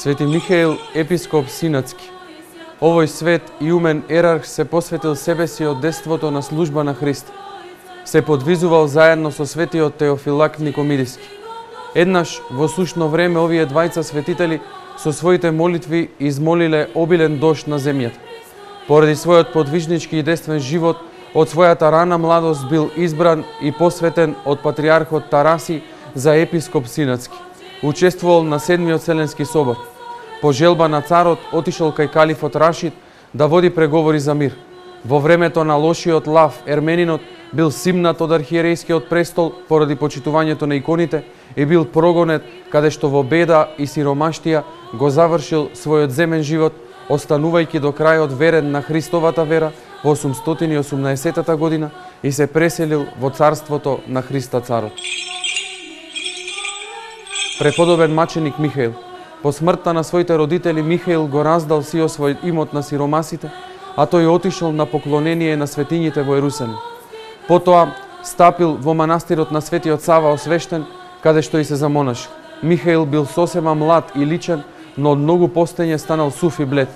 Свети Михаил, епископ Синатски. Овој свет и умен ерарх се посветил себе си од детството на служба на Христа. Се подвизувал заедно со светиот Теофилак Никомидиски. Еднаш во сушно време овие двајца светители со своите молитви измолиле обилен дожд на земјата. Поради својот подвижнички и действен живот, од својата рана младост бил избран и посветен од патриархот Тараси за епископ Синатски. Учествувал на Седмиот Вселенски собор. По желба на царот отишол кај калифот Рашид да води преговори за мир. Во времето на лошиот Лав, ерменинот, бил симнат од архиерејскиот престол поради почитувањето на иконите и бил прогонет, каде што во беда и сиромаштија го завршил својот земен живот, останувајќи до крајот верен на Христовата вера во 818 година и се преселил во царството на Христа царот. Преподобен маченик Михаил. По смртта на своите родители Михаил го раздал сиот свој имот на сиромасите, а тој отишол на поклонение на светињите во Ерусалим. Потоа стапил во манастирот на Светиот Сава освештен, каде што и се замонашил. Михаил бил сосема млад и личен, но од многу постење станал сув и блед.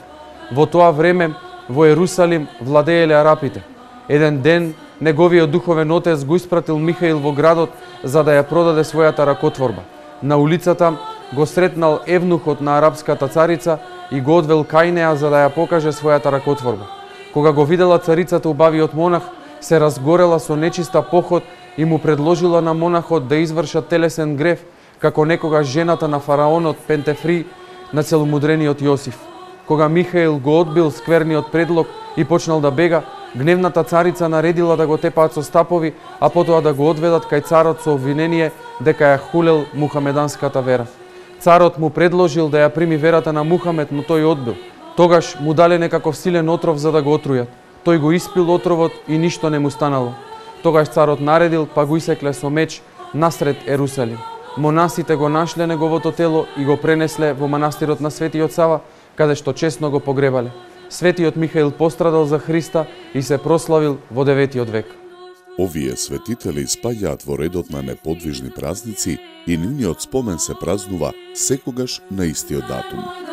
Во тоа време во Ерусалим владееле арапите. Еден ден неговиот духовен отец го испратил Михаил во градот за да ја продаде својата ракотворба. На улицата го сретнал евнухот на арапската царица и го одвел кај неа за да ја покаже својата ракотворба. Кога го видела царицата убавиот монах, се разгорела со нечиста поход и му предложила на монахот да изврша телесен грев, како некогаш жената на фараонот Пентефри на целомудрениот Јосиф. Кога Михаил го одбил скверниот предлог и почнал да бега, гневната царица наредила да го тепаат со стапови, а потоа да го одведат кај царот со обвинение дека ја хулел мухамеданската вера. Царот му предложил да ја прими верата на Мухамед, но тој одбил. Тогаш му дале некаков силен отров за да го отрујат. Тој го испил отровот и ништо не му станало. Тогаш царот наредил, па го исекле со меч насред Ерусалим. Монасите го нашле неговото тело и го пренесле во манастирот на Светиот Сава, каде што честно го погребале. Светиот Михаил пострадал за Христа и се прославил во 9 век. Овие светители спаѓаат во редот на неподвижни празници и нивниот спомен се празнува секогаш на истиот датум.